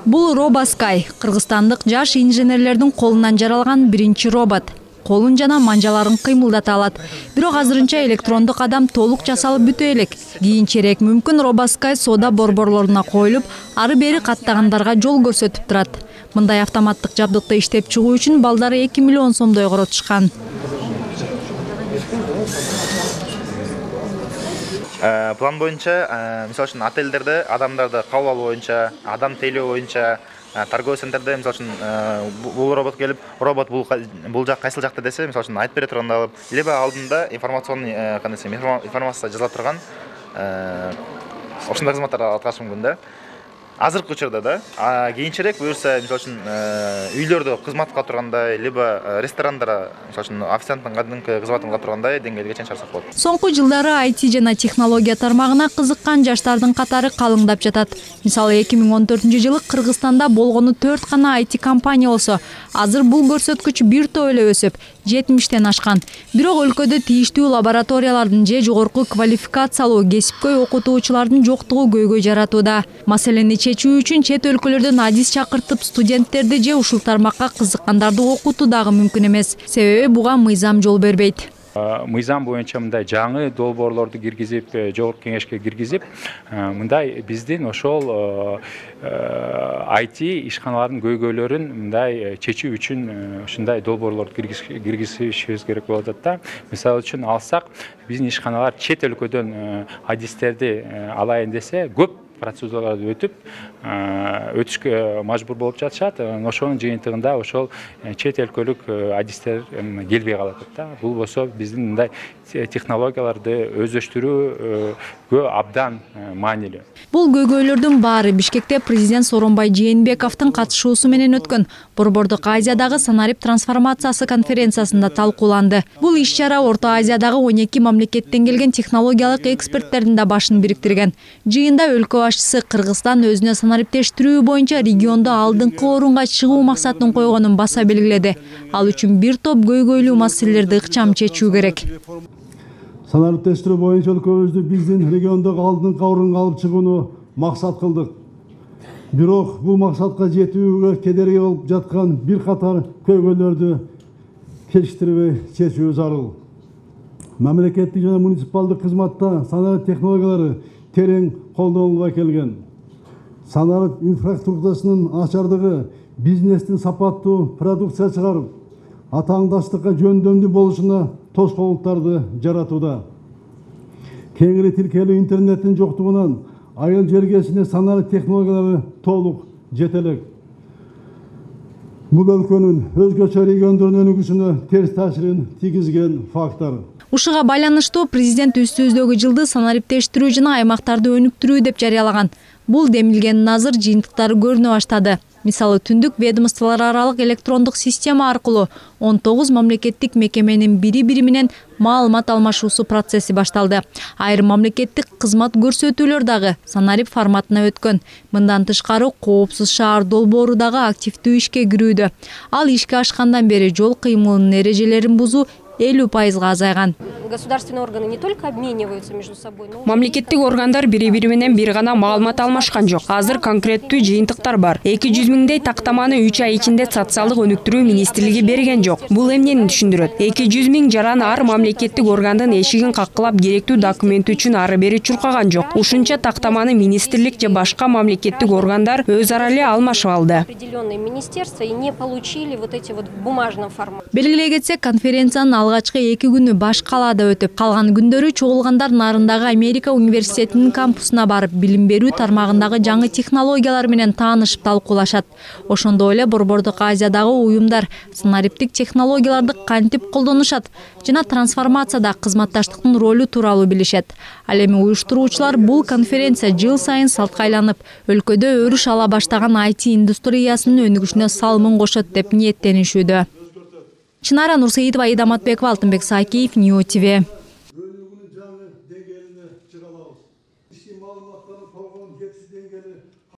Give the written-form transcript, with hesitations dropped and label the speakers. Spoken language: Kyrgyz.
Speaker 1: Бул RoboSky кыргызстандык жаш инженерлердин колунан жаралган биринчи робот. Колун жана манжаларын кыймылдата алат. Бирок азырынча электрондук кадам толук жасалып бүтө элек. Кийинчерээк мүмкүн RoboSky соода борборлоруна коюлуп, ары бери каттагандарга жол көрсөтүп турат. Мындай автоматтык жабдыкты иштеп чыгуу үчүн балдары 2 миллион сомдой коротушкан.
Speaker 2: План боюнча, мисалы үчүн отелдерде адамдарды кабыл алуу боюнча, адам тейлөө боюнча, торговый центрде мисалы үчүн бул робот келип, робот бул жак кайсыл жакта десе, мисалы үчүн айтып бере турганда алып, либо алдында информационный информация жазыла турган ошондой кызматтарды аткарышы мүмкүн да. Азыркы учурда да, кийинчерээк буюрса, мисалы үчүн үйлөрдө кызматка тургандай, либо ресторандарда, мисалы үчүн официанттын кадимки кызматын кыла тургандай деңгээлге чейин чыгарсак болот.
Speaker 1: Соңку жылдары IT жана технология тармагына кызыккан жаштардын катары калыңдап жатат. Мисалы 2014-жылы Кыргызстанда болгону 4 гана IT компания болсо, азыр бул көрсөткүч бир топ эле өсүп, 70тен ашкан. Бирок өлкөдө тийиштүү лабораториялардын же жогорку квалификациялуу кесипкөй окутуучулардын жоктугу көйгөй жаратууда. Маселени чечүү үчүн чет өлкөлөрдөн адис чакыртып, студенттерди же ушул тармакка кызыккандарды окутуу дагы мүмкүн эмес. Себеби буга мыйзам жол бербейт.
Speaker 3: Мыйзам боюнча мындай жаңы долбоорлорду киргизип, жогорку кеңешке киргизип, мындай биздин ошол IT ишканалардын көйгөйлөрүн мындай чечүү үчүн ушундай долбоорлорду киргизишибиз керек болуп атат да. Мисалы үчүн алсак, биздин ишканалар чет өлкөдөн адистерди алайын десе, көп процедураларды өтүшкө мажбур болуп жатышат. Ошонун жыйынтыгында ошол чет өлкөлүк адистер келбей калат да. Бул болсо биздин мындай технологияларды өздөштүрүүгө абдан маанилүү.
Speaker 1: Бул көйгөйлөрдүн баары Бишкекте президент Сооронбай Жээнбековдун катышуусу менен өткөн Борбордук Азиядагы санарип трансформациясы конференциясында талкууланды. Бул иш-чара Орто Азиядагы 12 мамлекеттен келген технологиялык эксперттердин да башын бириктирген. Жыйында өлкө башчысы Кыргызстан өзүнө санариптештирүү боюнча региондо алдыңкы орунга чыгуу максатын койгонун баса белгиледи. Ал үчүн бир топ көйгөйлүү маселелерди ыкчам чечүү керек.
Speaker 4: Санариптештирүү боюнча өлкөбүздү биздин региондогу алдыңкы орунга алып чыгууну максат кылдык. Бирок бул максатка жетүүгө кедерги болуп жаткан бир катар көйгөйлөрдү кечиктирбей чечүү зарыл. Мамлекеттик жана муниципалдык кызматта санарип технологиялары терең колдонулуп келген. Санарип инфраструктурасынын начардыгы бизнестин сапаттуу продукция чыгарып, атааңдаштыкка жөндөмдүү болушуна тоскоолдуктарды жаратууда. Кеңири тилкелүү интернеттин жоктугунан айыл жергесине санарип технологиялары толук жете элек. Бул өлкөнүн өзгөчө региондордун өнүгүшүнө терс таасирин тийгизген фактор.
Speaker 1: Ушуга байланыштуу президент үстүбүздөгү жылды санариптештирүү жана аймактарды өнүктүрүү деп жарыялаган. Бул демилгендин азыр жыйынтыктары көрүнө баштады. Мисалы түндүк ведомстволор аралык электрондук система аркылуу 19 мамлекеттик мекеменин бири-бири менен маалымат алмашуусу процесси башталды. Айрым мамлекеттик кызмат көрсөтүүлөр дагы санарип форматына өткөн. Мындан тышкары коопсуз шаар долбоору дагы активдүү ишке кирүүдө. Ал ишке ашкандан бери жол кыймылынын эрежелерин бузуу 50% азайган.
Speaker 5: Государственные органы не только обмениваются между собой, но
Speaker 6: мамлекеттик органдар бири-бири менен бир гана маалымат алмашкан жок. Азыр конкреттүү жыйынтыктар бар. 200 миңдей тактаманы 3 ай ичинде социалдык өнүктүрүү министрлиги берген жок. Бул эмнени түшүндүрөт? 200 миң жаран ар мамлекеттик органдын эшигин каккылап керектүү документ үчүн ары бери чуркаган жок. Ушунча тактаманы министрлик же башка мамлекеттик органдар өз ара эле алмашып алды.
Speaker 5: определенные министерства и не получили вот эти вот в бумажном формате.
Speaker 1: Белгилей кетсек, конференциянын алгачкы 2 күнү баш калаада өтүп, калган күндөрү чогулгандар нарындагы Америка университетинин кампусуна барып, билим берүү тармагындагы жаңы технологиялар менен таанышып талкуулашат. Ошондой эле Борбордук Азиядагы уюмдар санариптик технологияларды кантип колдонушат жана трансформацияда кызматташтыктын ролу тууралуу билишет. Ал эми уюштуруучулар бул конференция жыл сайын салтка айланып, өлкөдө өрүш ала баштаган IT индустриясынын өнүгүшүнө салымын кошот деп ниеттенишүүдө. Чынара Нурсеитова, Аида Матбекова, Алтынбек Саакеев, Нью ТВ.